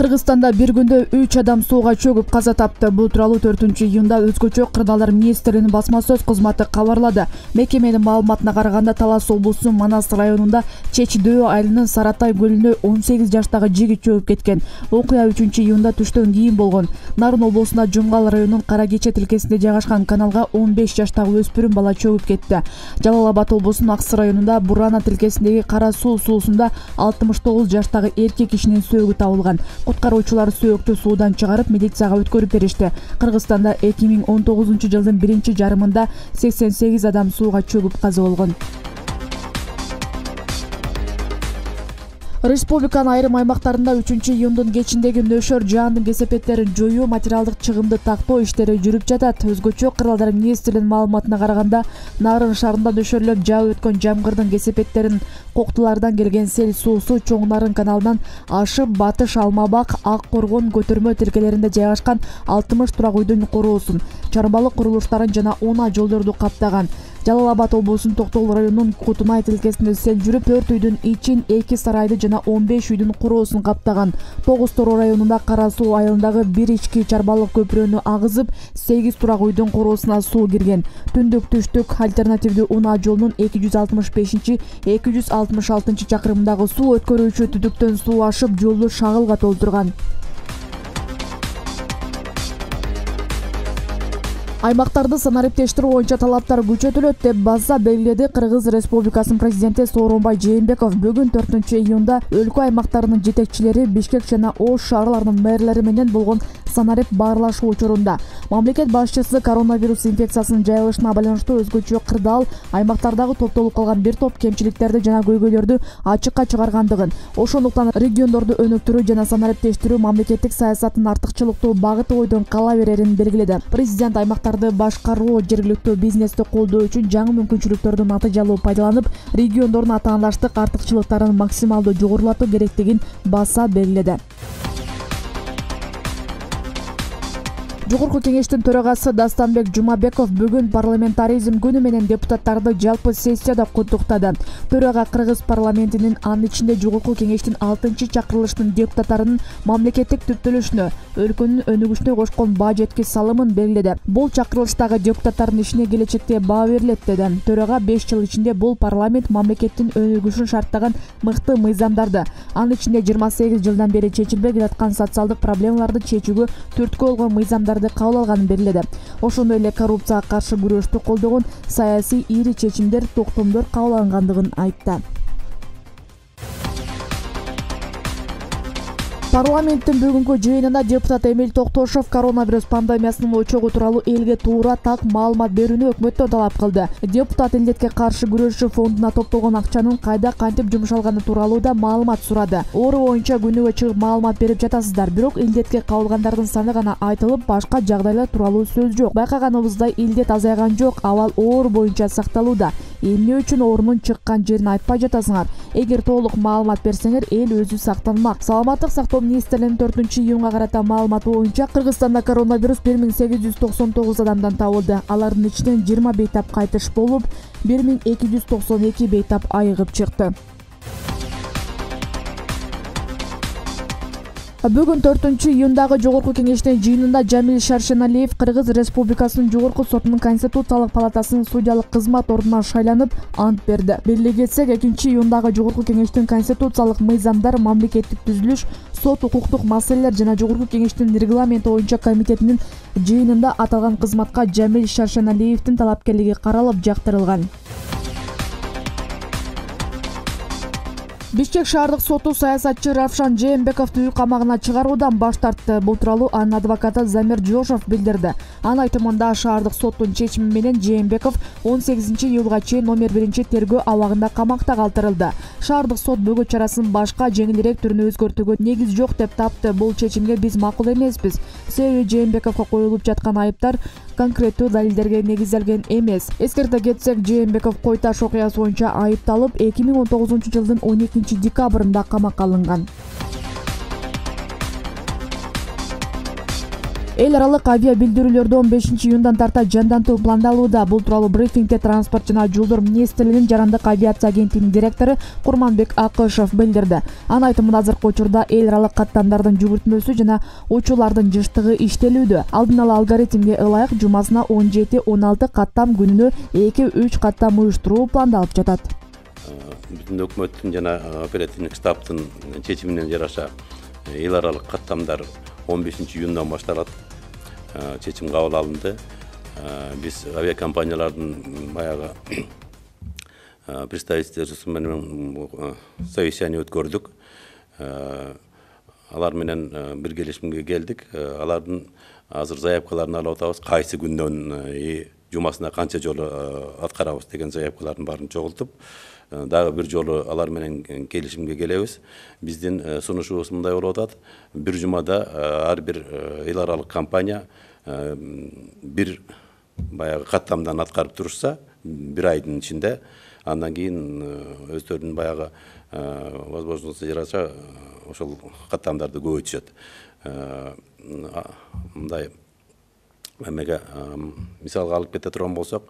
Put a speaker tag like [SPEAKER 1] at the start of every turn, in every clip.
[SPEAKER 1] Кыргызстанда бир күндө 3 адам сууга чөгүп каза тапты. Бул тууралуу 4-июнда өзгөчө кырдаалдар министрлигинин басма сөз кызматы кабарлады. Мекеменин маалыматына караганда Талас облусунун Манас районунда Чечи-Дөө айылынын Саратай көлүнө 18 жаштагы жигит чөгүп кеткен. Окуя 3-июнда түштөн кийин болгон. Нарын облусунда Жумгал районунун Каракече тилкесинде жайгашкан каналга 15 жаштагы өспүрүм бала чөгүп кетти. Жалал Абад облусунун Аксы районунда Бурана тилкесиндеги Кара суу суусунда 69 жаштагы эркек кишинин сөөгү табылган. Куткаруучулар сөөктү суудан чыгарып милицияга өткөрүп беришти. Кыргызстанда 2019 жылдын биринчи жарымында 88 адам сууга чөгүп каза болгон. Республиканын айрым аймактарында 3-июндун кечиндеги нөшөр жаандын кесепеттерин жоюу, материалдык чыгымды тактоо иштери жүрүп жатат. Өзгөчө кырдаалдар министрлигинин маалыматына караганда, Нарын шаарында нөшөрлөп жаап өткөн жамгырдын кесепеттерин Коктулардан келген сел суусу Чоң Нарын каналынан ашып Батыш, Алмабак, Ак Коргон көтөрмө тилкелеринде жайгашкан 60 турак үйдүн короосун, чарбалык курулуштарын жана унаа жолдорду каптаган. Жалал Абад облусунун Токтогул районунун Кутунай тилкесинде сел жүрүп 4 үйдүн ичин, 2 сарайды жана 15 үйдүн короосун каптаган. Тогуз Тороо районунда Кара суу айылындагы бир ички чарбалык көпүрөнү агызып, 8 турак үйдүн короосуна суу кирген. Түндүк-түштүк альтернативдүү унаа жолунун 265-266 чакырымындагы суу өткөрүүчү түтүктөн суу ашып, жолду шагылга толтурган. Аймактарды санариптештирүү боюнча талаптар күчөтүлөт деп баса белгиледи Кыргыз Республикасынын президенти Сооронбай Жээнбеков. Бүгүн 4-июнда өлкө аймактарынын жетекчилери Бишкек жана Ош шаарларынын мэрлери менен болгон санарип баарлашуу учурунда мамлекет башчысы коронавирус инфекциясынын жайылышына байланыштуу өзгөчө кырдаал аймактардагы топтолуп калган бир топ кемчиликтерди жана көйгөйлөрдү ачыкка чыгаргандыгын, ошондуктан региондорду өнүктүрүү жана санариптештирүү мамлекеттик саясаттын артыкчылыктуу багыты бойдон кала берерин белгиледи. Президент аймактарды башкаруу, жергиликтүү бизнести колдоо үчүн жаңы мүмкүнчүлүктөрдү натыйжалуу пайдаланып, региондордун атаандаштык артыкчылыктарын максималдуу жогорулатуу керектигин баса белгиледи. Жогорку кеңештин төрагасы Дастанбек Жумабеков бүгүн парламентаризм күнү менен депутаттарды жалпы сессияда куттуктады. Төрага Кыргыз парламентинин, анын ичинде Жогорку кеңештин 6-чакырылыштын депутаттарынын мамлекеттик түптөлүшүнө, өлкөнүн өнүгүшүнө кошкон баа жеткис салымын белгиледи. Бул чакырылыштагы депутаттардын ишине келечекте баа берилет деди. Төрага 5 жыл ичинде бул парламент мамлекеттин өнүгүшүн шарттаган мыкты мыйзамдарды, анын ичинде 28 жылдан бери чечилбей келаткан социалдык проблемаларды чечүүгө түрткү болгон мыйзамдар кабыл алганын белгиледи. Ошондой эле коррупцияга каршы күрөштү колдогон саясий ири чечимдер, токтомдор кабыл алынгандыгын айтты. Парламенттин бүгүнкү жыйынында депутат Эмил Токтошов коронавирус пандемиясынын очогу тууралуу элге туура так маалымат берүүнү өкмөттөн талап кылды. Депутат илдетке каршы күрөшүү фондуна топтолгон акчанын кайда кантип жумшалганы тууралуу да маалымат сурады. Оору боюнча күнүгө чыгып маалымат берип жатасыздар, бирок илдетке кабылгандардын саны гана айтылып, башка жагдайлар тууралуу сөз жок. Байкаганыбыздай илдет азайган жок, абал оору боюнча сакталууда. Эмне үчүн оорунун чыккан жерин айтпай жатасыңар? Эгер толук маалымат берсеңер, эл өзү сактанмак. Саламаттык сактоо министрлигинин 4-июнга карата маалыматы боюнча Кыргызстанда коронавирус 1899 адамдан табылды. Алардын ичинен 20 бейтап кайтыш болуп, 1292 бейтап айыгып чыкты. Бүгүн 4-июндагы Жогорку кеңештин жыйынында Жамил Шаршеналиев Кыргыз Республикасынын Жогорку сотунун Конституциялык палатасынын судьялык кызмат ордуна шайланып, ант берди. Белгилей кетсек, 2-июндагы Жогорку кеңештин конституциялык мыйзамдар, мамлекеттик түзүлүш, сот укуктук маселелер жана Жогорку кеңештин регламенти боюнча комитетинин жыйынында аталган кызматка Жамил Шаршеналиевдин талапкерлиги каралып, жактырылган. Бишкек шаардык соту саясатчы Равшан Жээнбековду үй камагына чыгаруудан баш тартты. Бул тууралуу анын адвокаты Замир Жошов билдирди. Анын айтымында шаардык соттун чечими менен Жээнбеков 18-июлга чейин номер 1-тергөө абагында камакта калтырылды. Шаардык сот бөгөт чарасын башка жеңилирээк түрүнө өзгөртүүгө негиз жок деп тапты. Бул чечимге биз макул эмеспиз. Себеби Жээнбековго коюлуп жаткан айыптар конкреттүү далилдерге негизделген эмес. Эскерте кетсек, Жээнбеков Кой Таш окуясы боюнча айыпталып, 2019 жылдын 12 декабрында камакка алынган. Эл аралык авиа билдирүүлөрдү 15-июндан тарта жандантуу пландалууда. Бул тууралуу брифингде транспорт жана жолдор министрлигинин жарандык авиация агенттигинин директору Курманбек Акышев билдирди. Анын айтымында азыркы учурда эл аралык каттамдардын жүгүртмөсү жана учуулардын жыштыгы иштелүүдө. Алдын ала алгоритмге ылайык жумасына 17-16 каттам, күнүнө 2-3 каттам уюштуруу пландалып жатат.
[SPEAKER 2] Биздин өкмөттүн жана оперативдик штабтын чечимине жараша эл аралык каттамдар 15-июндан башталат. Чечим кабыл алынды. Биз авиакомпаниялардын баягы представительствосу менен совещание өткөрдүк. Алар менен бир келишимге келдик. Алардын азыр заявкаларын алып атабыз. Кайсы күндөн жумасына канча жолу аткарабыз деген заявкалардын баарын чогултуп, дагы бир жолу алар менен келишимге келебиз. Биздин сунушубуз мындай болуп атат. Бир жумада ар бир эл аралык компания бир баягы каттамдан аткарып турушса, бир айдын ичинде, андан кийин өздөрүнүн баягы возможносту жараша ошол каттамдарды көбөйтүшөт. Мындай эмеге мисалга алып кете турган болсок,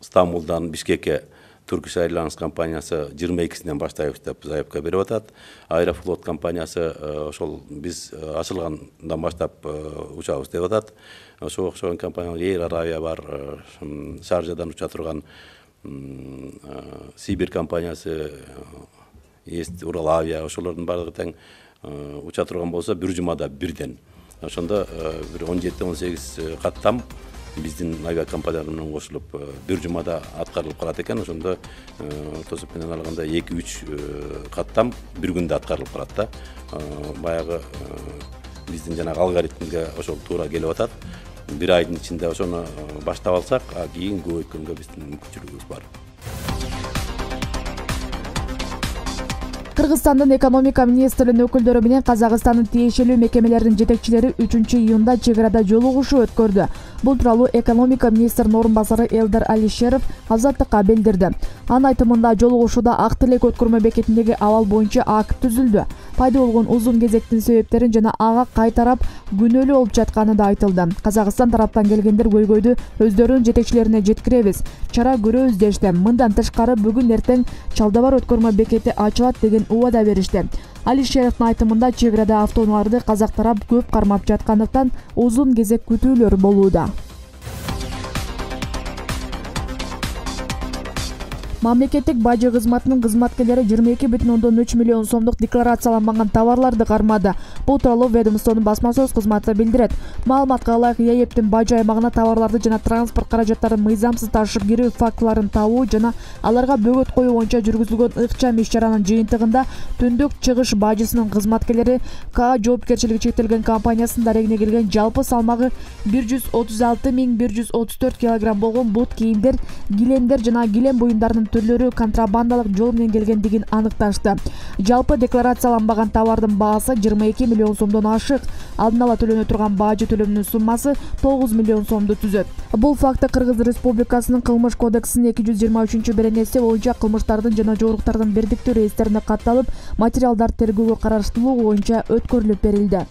[SPEAKER 2] Стамбулдан Бишкекке Turkish Airlines компаниясы 22-синен баштайбыз деп заявка берип атат. Аэрофлот компаниясы ошол биз ачылгандан баштап учабыз деп атат. Ошого окшогон компаниялар Air Arabia бар, Шаржадан уча турган Сибир компаниясы, Есть Урал Авиа, ошолордун баардыгы тең уча турган болсо, бир жумада бирден. Ошондо бир 17-18 каттам биздин авиакомпаниялар менен кошулуп бир жумада аткарылып калат экен. Ошондо ортосуп менен алганда 2-3 каттам бир күндө аткарылып калат да. Баягы биздин жанагы алгоритмге ошол туура келип атат. Бир айдын ичинде ошону баштап алсак, кийин көбөйткөнгө биздин мүмкүнчүлүгүбүз бар.
[SPEAKER 1] Кыргызстандын экономика министринин өкүлдөрү менен Казакстандын тиешелүү мекемелеринин жетекчилери 3-июнда чек арада жолугушуу өткөрдү. Бул тууралуу экономика министринин орун басары Элдар Алишеров Азаттыкка билдирди. Анын айтымында жолугушууда Ак Тилек өткөрмө бекетиндеги абал боюнча акт түзүлдү. Пайда болгон узун кезектин себептерин жана ага кай тарап күнөөлүү болуп жатканы да айтылды. Казакстан тараптан келгендер көйгөйдү өздөрүнүн жетекчилерине жеткиребиз, чара көрөбүз дешти. Мындан тышкары бүгүн эртең Чалдабар өткөрмө бекети ачылат деген убада беришти. Алишеровдун айтымында чек арада автоунааларды казак тарап көп кармап жаткандыктан узун кезек күтүүлөр болууда. Мамлекеттик бажы кызматынын кызматкерлери 22,3 миллион сомдук декларацияланбаган товарларды кармады. Бул тууралуу ведомствонун басма сөз кызматы билдирет. Маалыматка ылайык, ЕЭПтин бажы аймагына товарларды жана транспорт каражаттарын мыйзамсыз ташып кирүү фактыларын табуу жана аларга бөгөт коюу боюнча жүргүзүлгөн ыкчам иш-чаранын жыйынтыгында Түндүк Чыгыш бажысынын кызматкерлери К жоопкерчилиги чектелген компаниясынын дарегине келген жалпы салмагы 136,134 кг болгон бут кийимдер, килемдер жана килем буюмдарынын түрлөрү контрабандалык жол менен келгендигин аныкташты. Жалпы декларацияланбаган товардын баасы 22 миллион сомдон ашык. Алдын ала төлөнө турган бажы төлөмүнүн суммасы 9 миллион сомду түзөт. Бул факты Кыргыз Республикасынын Кылмыш кодексинин 223-беренеси боюнча кылмыштардын жана жоруктардын бирдиктүү реестрине катталып, материалдар тергөөгө караштылуу боюнча өткөрүлүп берилди.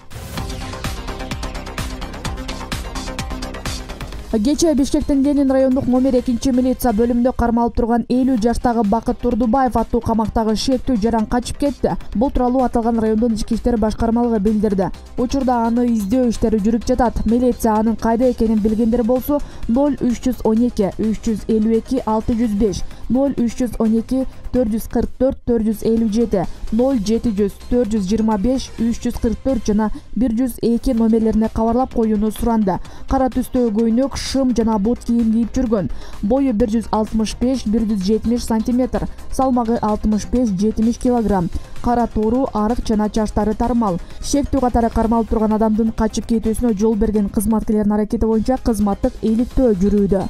[SPEAKER 1] Кечээ Бишкектин Ленин райондук номер 2 милиция бөлүмүндө кармалып турган 50 жаштагы Бакыт Турдубаев аттуу камактагы шектүү жаран качып кетти. Бул тууралуу аталган райондун ички иштер башкармалыгы билдирди. Учурда аны издөө иштери жүрүп жатат. Милиция анын кайда экенин билгендер болсо 0312 352 605, 0312 444 457, 0700 425 344 жана 102 номерлерине кабарлап коюуну суранды. Кара түстө көйнөк, шым жана бут кийим кийип жүргөн. Бою 165-170 сантиметр, салмагы 65-70 кг. Кара тоору, арык жана чачтары тармал. Шектүү катары кармалып турган адамдын качып кетүүсүнө жол берген кызматкерлердин аракети боюнча кызматтык иликтөө жүрүүдө.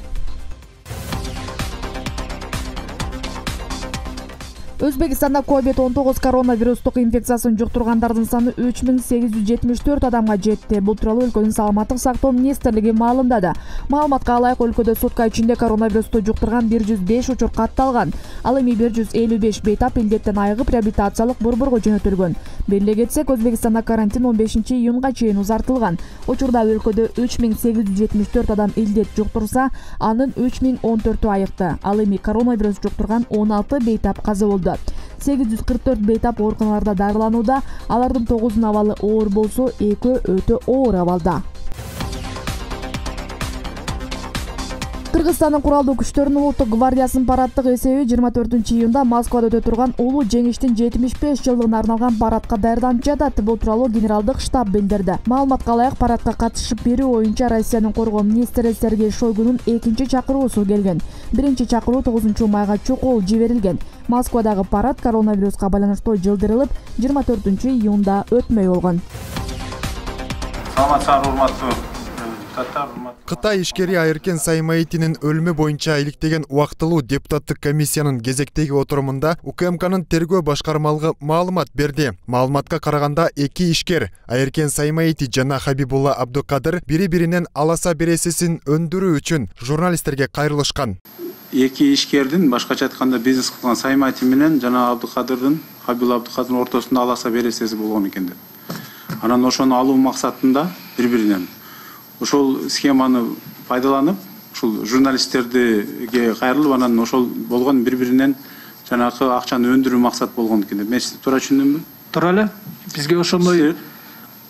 [SPEAKER 1] Өзбекстанда COVID-19 коронавирустук инфекциясын жуктургандардын саны 3874 адамга жетти. Бул тууралуу өлкөнүн саламаттык сактоо министрлиги маалымдады. Маалыматка ылайык өлкөдө сутка ичинде коронавирусту жуктурган 105 учур катталган. Ал эми 155 бейтап илдеттен айыгып реабилитациялык борборго жөнөтүлгөн. Беле кетсек, Өзбекстанда карантин 15-июнга чейин узартылган. Учурда өлкөдө 3874 адам илдет жуктурса, анын 3014-ü айыкты. Ал эми коронавирус жуктурган 16 бейтап каза болду. 844 бейтап ооруканаларда дарыланууда, алардын 9-унун абалы оор болсо, 2 өтө оор абалда. Кыргызстандын куралдуу күчтөрүнүн улуттук гвардиясынын параддык эсеби 24-июнда Москвада өтө турган улуу жеңиштин 75 жылдыгына арналган парадка даярданып жатат. Бул тууралуу генералдык штаб билдирди. Маалыматка ылайык, парадка катышып берүү боюнча Россиянын коргоо министри Сергей Шойгунун экинчи чакыруусу келген. Биринчи чакыруу 9-майга чукул жиберилген. Москвадагы парад коронавируска байланыштуу жылдырылып, 24-июнда өтмөй болгон.
[SPEAKER 3] Саламатсыздар, урматтуу
[SPEAKER 4] Кытай ишкери Айыркен Саймаитинин өлүмү боюнча иликтеген убактылуу депутаттык комиссиянын кезектеги отурумунда УКМКнын тергөө башкармалыгы маалымат берди. Маалыматка караганда, эки ишкер Айыркен Саймаити жана Хабибулла Абдукадыр бири-биринен аласа бересисин өндүрүү үчүн журналисттерге кайрылышкан.
[SPEAKER 3] Эки ишкердин башкача айтканда бизнес кылган Саймаити менен жана Хабибулла Абдукадырдын ортосунда аласа бересеси болгон экен деп. Анан ошону алуу максатында бири-биринен ошол схеманы пайдаланып, ушул журналисттерге кайрылып, анан ошол болгон бири-биринен жанагы акчаны өндүрүү максат болгон экен деп. Мен сизди туура түшүндүмбү?
[SPEAKER 5] Туура эле. Бизге ошондой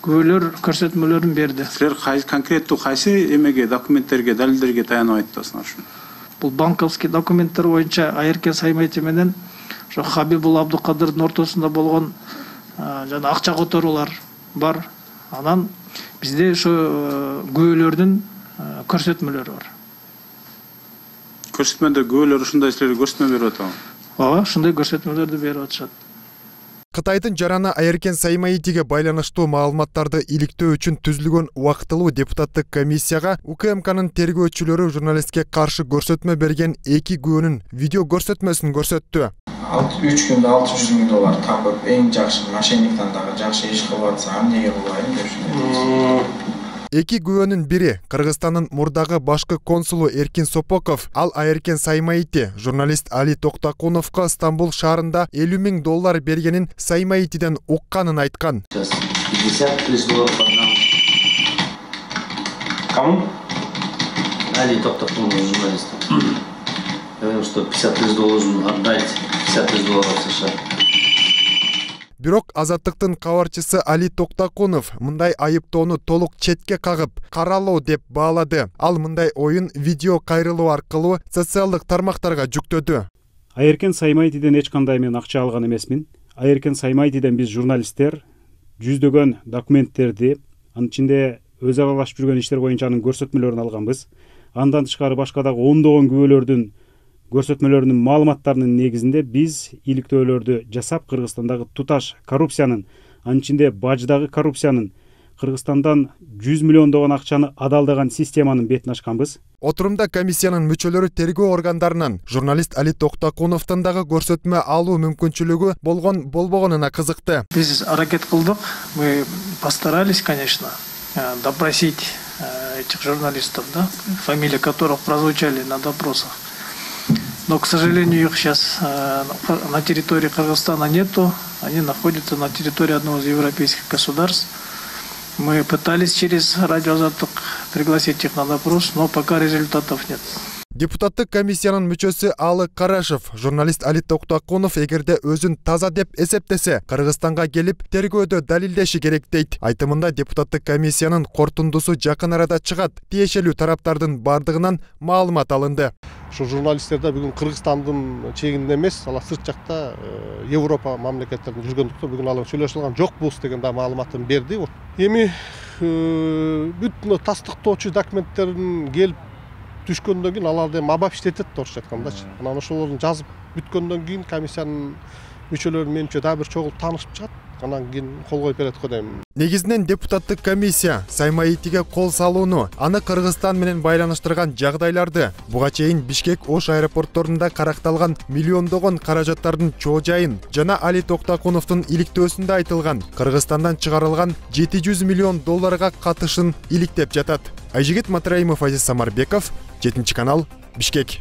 [SPEAKER 5] күбөлөр, көрсөтмөлөрүн берди.
[SPEAKER 3] Силер конкреттүү кайсы эмеге, документтерге, далилдерге таянып айтасыңар ушуну?
[SPEAKER 5] Бул банковский документтер боюнча Айыркен Саймаити менен ошо Хабибулла Абдукадырдын ортосунда болгон жана акча которуулар бар. Анан бизде ошо күбөлөрдүн көрсөтмөлөрү бар.
[SPEAKER 3] Көрсөтмөдө күбөлөр ушундай силерге көрсөтмө берип атабы?
[SPEAKER 5] Ооба, ушундай көрсөтмөлөрдү берип атышат.
[SPEAKER 4] Кытайдын жараны Айыркен Саймаитиге байланыштуу маалыматтарды иликтөө үчүн түзүлгөн убактылуу депутаттык комиссияга УКМКнын тергөөчүлөрү журналистке каршы көрсөтмө берген эки күбөнүн видео көрсөтмөсүн көрсөттү.
[SPEAKER 6] 3 күндө $600,000 тапып, эң жакшы мошенниктен дагы жакшы иш кылып атса, эмнеге кылбайм деп düşündüm.
[SPEAKER 4] Эки күбөнүн бири Кыргызстандын мурдагы башкы консулу Эркин Сопоков, ал Айыркен Саймаити журналист Али Токтакуновго Стамбул шаарында $50,000 бергенин Саймаитиден укканын айткан.
[SPEAKER 7] $50,000 отдам.
[SPEAKER 6] Кому?
[SPEAKER 7] Али Токтакунов, журналист. Говорил, что $50,000 должен отдать, $50,000 США.
[SPEAKER 4] Бирок Азаттыктын кабарчысы Али Токтакунов мындай айыптоону толук четке кагып, каралоо деп баалады. Ал мындай оюн видео кайрылуу аркылуу социалдык тармактарга жүктөдү.
[SPEAKER 8] Айыркен Саймаитиден эч кандай мен акча алган эмесмин. Айыркен Саймаитиден биз журналисттер жүздөгөн документтерди, анын ичинде өз аралашып жүргөн иштер боюнча анын көрсөтмөлөрүн алганбыз. Андан тышкары башка дагы ондогон күбөлөрдүн көрсөтмөлөрүнүн маалыматтарынын негизинде биз иликтөөлөрдү жасап, Кыргызстандагы туташ коррупциянын, анын ичинде баждагы коррупциянын, Кыргызстандан 100 миллиондогон акчаны адалдаган системанын бетин ачканбыз.
[SPEAKER 4] Отурумда комиссиянын мүчөлөрү тергөө органдарынан журналист Али Токтакуновдун дагы көрсөтмө алуу мүмкүнчүлүгү болбогонуна кызыкты.
[SPEAKER 5] Биз аракет кылдык, мы постарались, конечно, допросить этих журналистов, да, фамилии которых прозвучали на допросах. Но, к сожалению, их сейчас на территории Кыргызстана нету. Они находятся на территории одного из европейских государств. Мы пытались через радио Азаттык пригласить их на допрос, но пока результатов нет.
[SPEAKER 4] Депутаттык комиссиянын мүчөсү Алы Карашев, журналист Али Токтакунов эгерде өзүн таза деп эсептесе, Кыргызстанга келип тергөөдө далилдеши керек дейт. Айтымында депутаттык комиссиянын корутундусу жакын арада чыгат. Тиешелүү тараптардын бардыгынан маалымат алынды.
[SPEAKER 9] Ошо журналисттерде бүгүн Кыргызстандын чегинде эмес, алар сырт жакта Европа мамлекеттеринде жүргөндүктөн бүгүн алар сүйлөшүп алган жокпуз деген да маалыматын берди. Эми бүт тастыктоочу документтерин келип түшкөндөн кийин аларды мабап иштетет, орусча айткандачы. Анан ошолорду жазып бүткөндөн кийин комиссиянын мүчөлөрү менимче дагы бир чогулуп таанышып чыгат. анан кийин кол коюп берет го дейм.
[SPEAKER 4] Негизинен депутаттык комиссия Саймаитиге кол салууну, аны Кыргызстан менен байланыштырган жагдайларды, буга чейин Бишкек, Ош аэропортторунда каракталган миллиондогон каражаттардын чоо жайын жана Али Токтакуновдун иликтөөсүндө айтылган Кыргызстандан чыгарылган 700 миллион долларга катышын иликтеп жатат. Айжигит Матраимов, Азиз Самарбеков, 7 канал, Бишкек.